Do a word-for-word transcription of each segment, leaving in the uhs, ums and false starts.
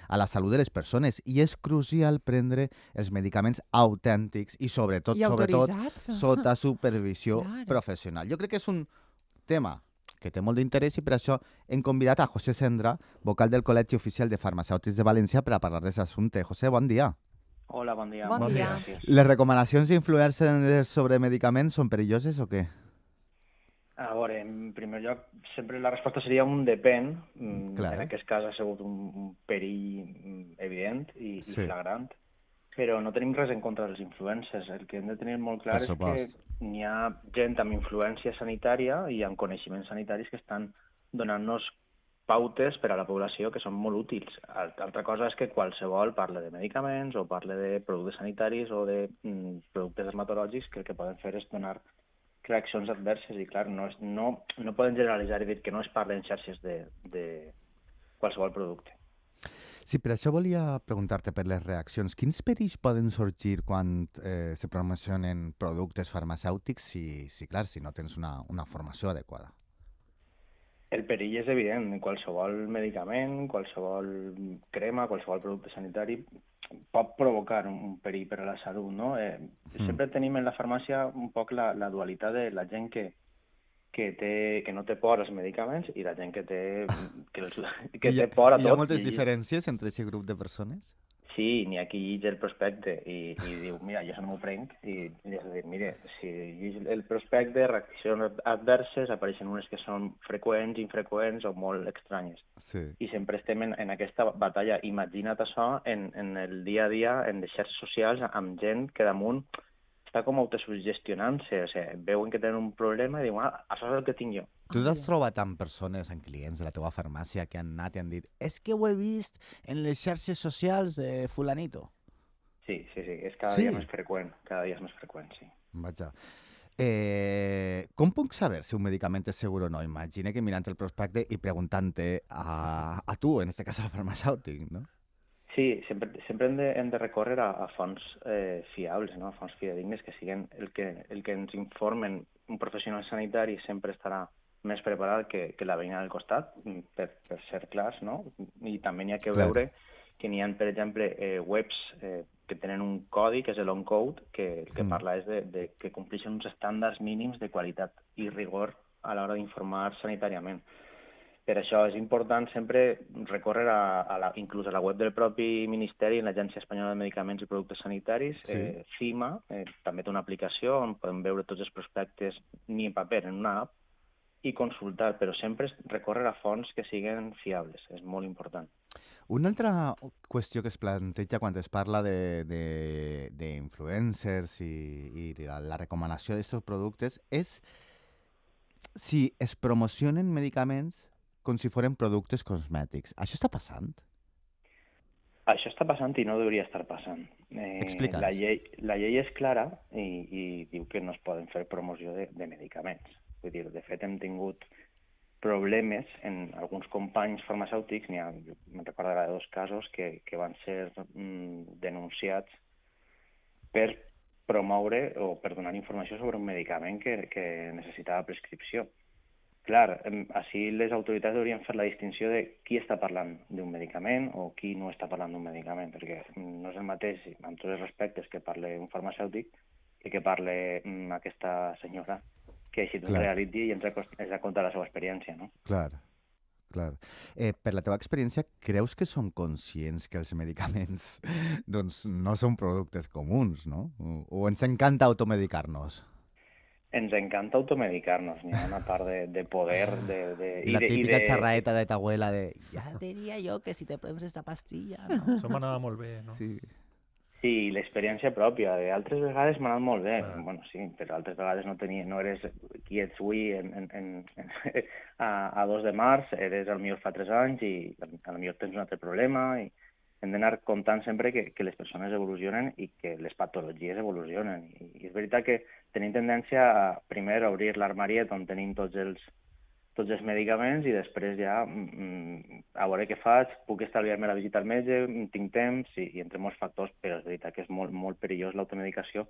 a la salut de les persones i és crucial prendre els medicaments autèntics i sobretot, I sobretot, autoritzats. sota supervisió Clar. professional. Jo crec que és un tema que té molt d'interès i per això hem convidat a José Sendra, vocal del Col·legi Oficial de Farmacèutics de València, per a parlar d'aquest assumpte. José, bon dia. Hola, bon dia. Bon Moltes dia. gràcies. Les recomanacions d'influencers sobre medicaments són perilloses o què? A veure, en primer lloc, sempre la resposta seria un depèn. Mm, Clar. En aquest cas ha sigut un, un perill mm, evident i, Sí. i flagrant, però no tenim res en contra dels influencers. El que hem de tenir molt clar Per és supost. que n'hi ha gent amb influència sanitària i amb coneixements sanitaris que estan donant-nos pautes per a la població que són molt útils. Alt- Altra cosa és que qualsevol parle de medicaments o parle de productes sanitaris o de mm, productes dermatològics que el que poden fer és donar reaccions adverses i, clar, no, és, no, no poden generalitzar i dir que no es parla en xarxes de, de qualsevol producte. Sí, per això volia preguntar-te per les reaccions. Quins perills poden sorgir quan eh, se promocionen productes farmacèutics si, si, clar, si no tens una, una formació adequada? El perill és evident. Qualsevol medicament, qualsevol crema, qualsevol producte sanitari pot provocar un, un perill per a la salut, no? Eh, Mm. Sempre tenim en la farmàcia un poc la, la dualitat de la gent que, que, té, que no té por als medicaments i la gent que té, que, els, que I hi ha, té por a hi ha tot. moltes I- diferències entre aquest grup de persones? Sí, n'hi ha qui llig el prospecte i, i diu, mira, jo això no m'ho prenc, i, i és a dir, mire, si llig el prospecte, reaccions adverses, apareixen unes que són freqüents, infreqüents o molt estranyes. Sí. I sempre estem en, en aquesta batalla. Imagina't això en, en el dia a dia, en les xarxes socials, amb gent que damunt està com autosugestionant-se, o sigui, veuen que tenen un problema i diuen, ah, això és el que tinc jo. Tu t'has trobat amb persones, amb clients de la teva farmàcia que han anat i han dit és que ho he vist en les xarxes socials de fulanito? Sí, sí, sí, és cada Sí. dia més freqüent, cada dia és més freqüent, sí. Vaja. Eh, com puc saber si un medicament és segur o no? Imagina que mirant el prospecte i preguntant-te a, a tu, en aquest cas al farmacèutic, no? Sí, sempre, sempre hem de, hem de recórrer a, a fonts eh, fiables, no? A fonts fidedignes que siguin el que, el que ens informen. Un professional sanitari sempre estarà més preparat que, que la veïna del costat, mm, per, per ser clars, no? I també n'hi ha que Clar. veure que n'hi ha, per exemple, eh, webs eh, que tenen un codi, que és l'on-code, que el que Mm. parla és de, de que compleixen uns estàndards mínims de qualitat i rigor a l'hora d'informar sanitàriament. Per això és important sempre recórrer a, a la, inclús a la web del propi Ministeri, l'Agència Espanyola de Medicaments i Productes Sanitaris, Sí. eh, CIMA, eh, també té una aplicació on podem veure tots els prospectes ni en paper, en una app, i consultar, però sempre és recórrer a fonts que siguin fiables, és molt important. Una altra qüestió que es planteja quan es parla de- de- d'influencers i, i la, la recomanació d'aquests productes és si es promocionen medicaments com si foren productes cosmètics. Això està passant? Això està passant i no hauria estar passant. Eh, Explica'ns. la, llei, la llei és clara i, i diu que no es poden fer promoció de, de medicaments. Vull dir, de fet, hem tingut problemes en alguns companys farmacèutics, n'hi ha, jo me'n recordo ara de dos casos, que, que van ser mm, denunciats per promoure o per donar informació sobre un medicament que, que necessitava prescripció. Clar, em, així les autoritats haurien fet la distinció de qui està parlant d'un medicament o qui no està parlant d'un medicament, perquè no és el mateix, amb tots els respectes, que parle un farmacèutic i que parle mm, aquesta senyora, que així Clar. realitzi i ens ha, cos- ens ha contat la seva experiència, no? Clar, clar. Eh, per la teva experiència, creus que som conscients que els medicaments doncs, no són productes comuns, no? O, o ens encanta automedicar-nos? Ens encanta automedicar-nos, n'hi ha una part de, de poder de, de, I la de, típica de, xerraeta de ta abuela de ja te diria jo que si te prens esta pastilla, no? Això m'anava molt bé, no? Sí. Sí, l'experiència pròpia. Altres vegades m'ha anat molt bé. Clar. Bueno, sí, però altres vegades no, tenia, no eres qui ets avui en, en, en, a, a dos de març, eres el millor fa tres anys i a lo millor tens un altre problema i hem d'anar comptant sempre que, que les persones evolucionen i que les patologies evolucionen. I, i és veritat que tenim tendència a primer obrir l'armariet on tenim tots els, tots els medicaments i després ja mm, a veure què faig, puc estalviar-me la visita al metge, tinc temps i, i entre molts factors, però és veritat que és molt, molt perillós l'automedicació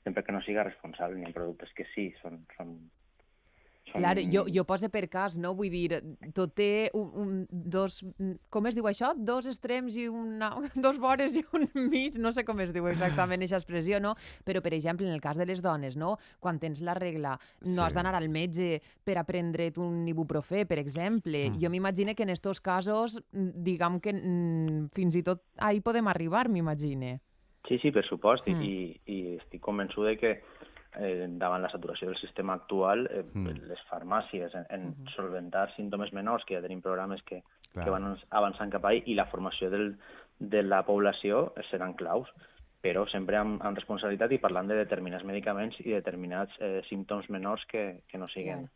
sempre que no siga responsable. N'hi ha productes que sí, són, són, Són... Clar, jo, jo poso per cas, no? Vull dir, tot té un, un, dos... Com es diu això? Dos extrems i una... dos vores i un mig, no sé com es diu exactament aquesta expressió, no? Però, per exemple, en el cas de les dones, no? Quan tens la regla, no Sí. has d'anar al metge per a prendre't un ibuprofè, per exemple. Mm. Jo m'imagino que en aquests casos, diguem que mm, fins i tot ahí podem arribar, m'imagine. Sí, sí, per supost, Mm. i, i estic convençut de que eh, davant la saturació del sistema actual, eh, Mm. les farmàcies en, en Mhm. solventar símptomes menors, que ja tenim programes que, Clar. que van avançant cap ahí, i la formació del, de la població seran claus, però sempre amb, amb responsabilitat i parlant de determinats medicaments i determinats eh, símptomes menors que, que no siguin Clar.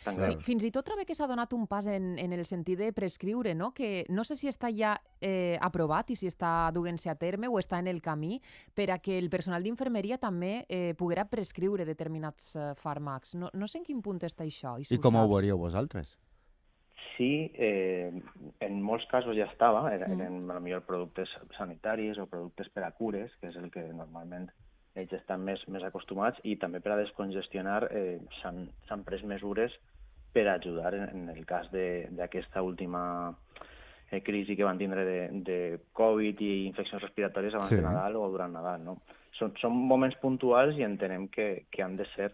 tan Clar. greus. Fins i tot trobo que s'ha donat un pas en, en el sentit de prescriure, no? Que no sé si està ja eh, aprovat i si està duent-se a terme o està en el camí per a que el personal d'infermeria també eh, poguera prescriure determinats eh, fàrmacs. No, no sé en quin punt està això. I, si I com ho saps. veuríeu vosaltres? Sí, eh, en molts casos ja estava, eren, Mm. eren potser productes sanitaris o productes per a cures, que és el que normalment ells estan més, més acostumats, i també per a descongestionar eh, s'han s'han pres mesures per a ajudar en, en el cas de- d'aquesta última eh, crisi que van tindre de, de Covid i infeccions respiratòries abans Sí. de Nadal o durant Nadal. No? Són, són moments puntuals i entenem que, que han de ser...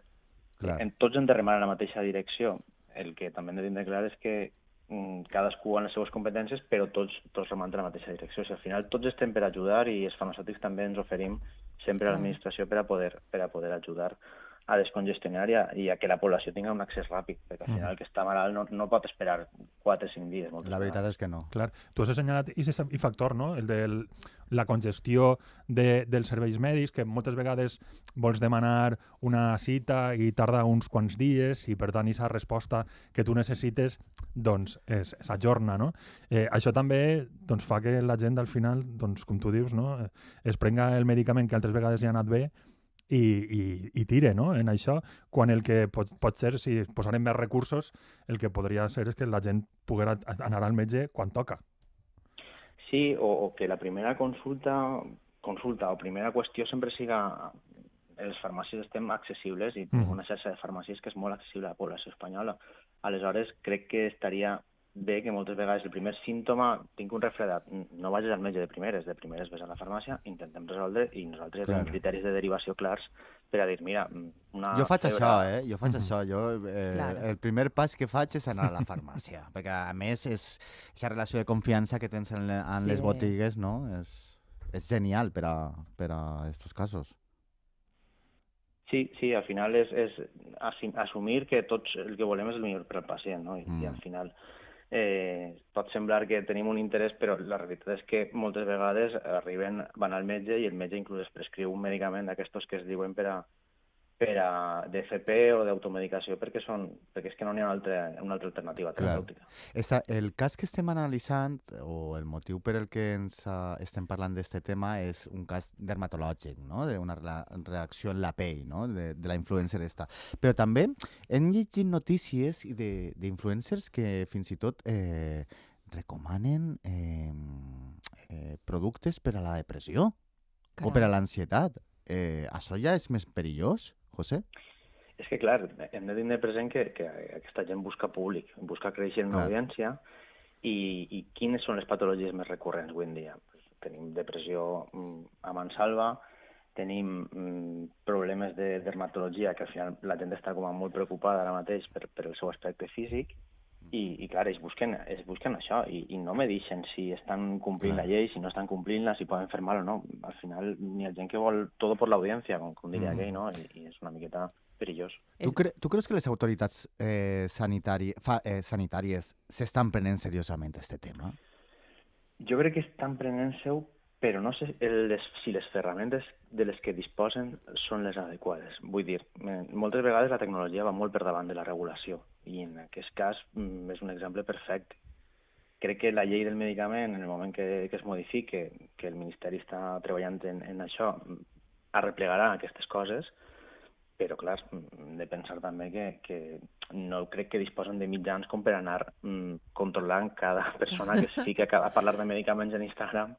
Clar. En, tots hem de remar en la mateixa direcció. El que també hem de tindre clar és que mm, cadascú en les seues competències, però tots, tots remant en la mateixa direcció. O sigui, al final tots estem per ajudar i els farmacèutics també ens oferim sempre a Clar. l'administració per a poder per a poder ajudar a descongestionar i a, i a que la població tinga un accés ràpid, perquè al final el que està malalt no, no pot esperar quatre o cinc dies. moltes La veritat vegades. és que no. Clar, tu has assenyalat aquest factor, no? El de la congestió de, dels serveis mèdics, que moltes vegades vols demanar una cita i tarda uns quants dies i per tant aquesta resposta que tu necessites doncs és- s'ajorna, no? Eh, això també doncs, fa que la gent al final, doncs, com tu dius, no? Eh, es prenga el medicament que altres vegades li ha anat bé i, i, i tire, no? En això, quan el que pot, pot ser, si posarem més recursos, el que podria ser és que la gent poguera anar al metge quan toca. Sí, o, o que la primera consulta, consulta o primera qüestió sempre siga les farmàcies estem accessibles i tenim Mhm. una xarxa de farmàcies que és molt accessible a la població espanyola. Aleshores, crec que estaria bé que moltes vegades el primer símptoma, tinc un refredat, no vagis al metge de primeres, de primeres ves a la farmàcia, intentem resoldre i nosaltres Clar. tenim criteris de derivació clars per a dir, mira, una Jo faig febre... això, eh? Jo faig Mhm. això. Jo, eh, Clar. El primer pas que faig és anar a la farmàcia, perquè a més és aquesta relació de confiança que tens en, le- en Sí. les botigues, no? És, és genial per a, per a estos casos. Sí, sí, al final és, és assi- assumir que tots el que volem és el millor per al pacient, no? I, Mm. i al final eh, pot semblar que tenim un interès, però la realitat és que moltes vegades arriben, van al metge i el metge inclús es prescriu un medicament d'aquestos que es diuen per a, per a d'F P o d'automedicació perquè són perquè és que no n'hi ha una altra, una altra alternativa Clar. terapèutica. Esta, el cas que estem analitzant, o el motiu per el que ens uh, estem parlant d'aquest tema, és un cas dermatològic, no? D'una rela- reacció en la pell, no? De, de la influencer esta. Però també hem llegit notícies i de- d'influencers que fins i tot eh, recomanen eh, eh, productes per a la depressió o per a l'ansietat. Eh, això ja és més perillós, José? És que, clar, hem de tenir present que, que aquesta gent busca públic, busca créixer en Clar. audiència i, i quines són les patologies més recurrents avui en dia? Pues tenim depressió mm, a mansalva, tenim mm, problemes de dermatologia, que al final la gent està com a molt preocupada ara mateix per, per el seu aspecte físic, i, i clar, ells busquen, ells busquen això, i, i no me deixen si estan complint Clar. la llei, si no estan complint-la, si poden fer mal o no. Al final, ni ha gent que vol todo por l'audiència, com, com diria Mm. aquell, no? I, I és una miqueta perillós. Tu, cre tu creus que les autoritats eh, sanitari fa eh, sanitàries s'estan prenent seriosament aquest tema? Jo crec que estan prenent-se-ho, però no sé el, les, si les ferramentes de les que disposen són les adequades. Vull dir, eh, moltes vegades la tecnologia va molt per davant de la regulació i en aquest cas mm, és un exemple perfecte. Crec que la llei del medicament, en el moment que, que es modifique, que el Ministeri està treballant en, en això, mm, arreplegarà aquestes coses, però clar, mm, hem de pensar també que, que no crec que disposen de mitjans com per anar mm, controlant cada persona que es fica a parlar de medicaments en Instagram,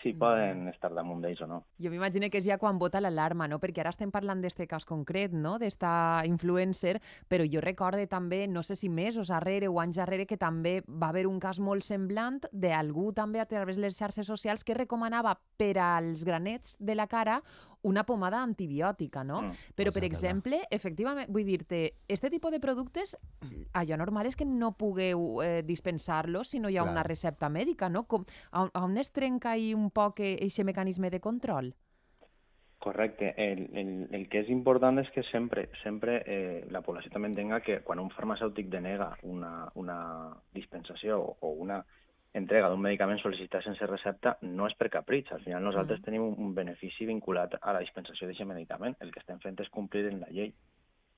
si poden estar damunt d'ells o no. Jo m'imagino que és ja quan vota l'alarma, no? Perquè ara estem parlant d'este cas concret, no? D'esta influencer, però jo recorde també, no sé si mesos darrere o anys darrere, que també va haver un cas molt semblant d'algú també a través de les xarxes socials que recomanava per als granets de la cara una pomada antibiòtica, no? Mm. Però, per Exacte. exemple, efectivament, vull dir-te, este tipus de productes, allò normal és que no pugueu eh, dispensar-los si no hi ha Clar. una recepta mèdica, no? Com, a, a on es trenca ahí un poc aquest mecanisme de control? Correcte. El, el, el que és important és que sempre, sempre eh, la població també entenga que quan un farmacèutic denega una, una dispensació o, o una entrega d'un medicament sol·licitat sense recepta no és per capritx. Al final nosaltres Mm. tenim un, un benefici vinculat a la dispensació d'aquest medicament. El que estem fent és complir en la llei.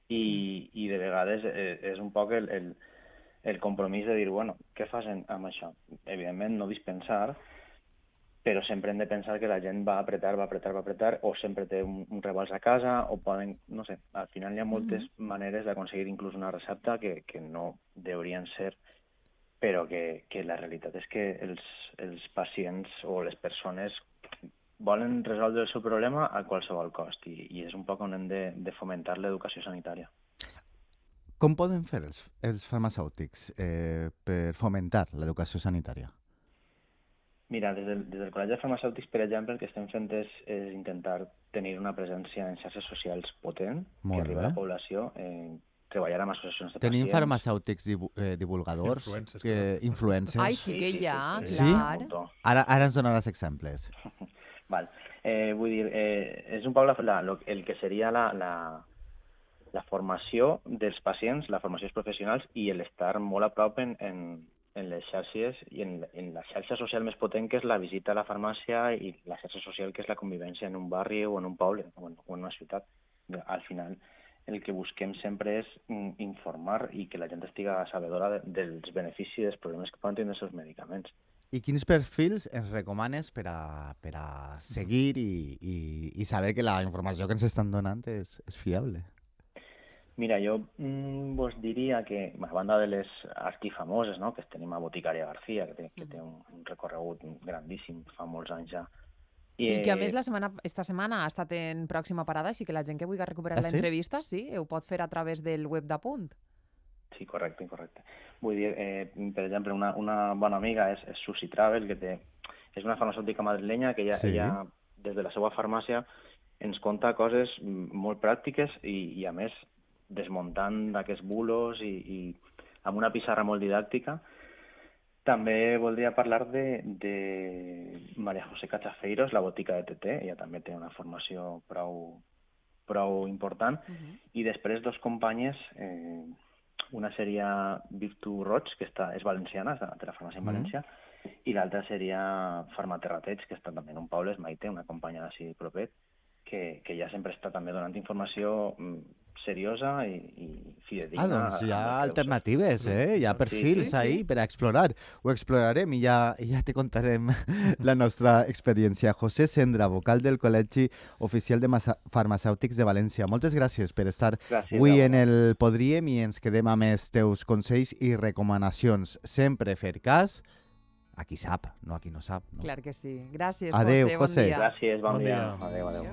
I, i de vegades eh, és un poc el, el, el compromís de dir, bueno, què fas en, amb això? Evidentment no dispensar, però sempre hem de pensar que la gent va apretar, va apretar, va apretar, o sempre té un, un rebals a casa, o poden, no sé, al final hi ha moltes Mhm. maneres d'aconseguir inclús una recepta que, que no deurien ser, però que, que la realitat és que els, els pacients o les persones volen resoldre el seu problema a qualsevol cost, i, i és un poc on hem de, de fomentar l'educació sanitària. Com poden fer els, els farmacèutics eh, per fomentar l'educació sanitària? Mira, des del, des del Col·legi de Farmacèutics, per exemple, el que estem fent és, és intentar tenir una presència en xarxes socials potent, Molt que arribi a bé. la població, eh, treballar amb associacions de Tenim pacients. farmacèutics divu eh, divulgadors, Influencers, que, clar. influencers. Ai, sí que hi ha, sí. clar. un muntó. Ara, ara ens donaràs exemples. Val. Eh, vull dir, eh, és un poc la, la, lo, el que seria la, la, la formació dels pacients, la formació dels professionals i l'estar molt a prop en, en, en les xarxes i en, en la xarxa social més potent, que és la visita a la farmàcia, i la xarxa social, que és la convivència en un barri o en un poble o en, o en una ciutat. Al final, el que busquem sempre és mm, informar i que la gent estiga sabedora de, dels beneficis i dels problemes que poden tenir els seus medicaments. I quins perfils ens recomanes per a, per a seguir i, i, i saber que la informació que ens estan donant és, és fiable? Mira, jo mm, vos diria que, a banda de les artifamoses, no?, que tenim a Boticària García, que té, que té un, un recorregut grandíssim, fa molts anys ja. I que a més la setmana, esta setmana ha estat en pròxima parada, així que la gent que vulgui recuperar Ah, sí? l'entrevista, sí, ho pot fer a través del web d'Apunt. Sí, correcte, correcte. Vull dir, eh, per exemple, una, una bona amiga és, és Susi Travel, que té, és una farmacèutica madrilenya que ella, Sí. ella, des de la seva farmàcia, ens conta coses molt pràctiques i, i a més, desmuntant aquests bulos i, i amb una pissarra molt didàctica. També voldria parlar de, de María José Cachafeiros, la botica de T T. Ella també té una formació prou, prou important. Uh -huh. I després dos companyes, eh, una seria Virtu Roig, que està, és valenciana, és de la farmàcia en Mm. València, i l'altra seria Farmaterrateig, que està també en un poble, és Maite, una companya d'ací propet, que, que ja sempre està també donant informació mm, seriosa i, i fidedigna. Ah, doncs hi amb ha el que alternatives, eh? Hi ha Sí, perfils sí, sí. ahí per a explorar. Ho explorarem i ja, i ja te contarem la nostra experiència. José Sendra, vocal del Col·legi Oficial de Massa- Farmacèutics de València. Moltes gràcies per estar Gràcies avui a en vosaltres. el Podríem i ens quedem amb els teus consells i recomanacions. Sempre fer cas a qui sap, no a qui no sap. No? Clar que sí. Gràcies, Adéu, José, José. bon dia. Gràcies, bon, Bon dia. dia. Adéu, adéu.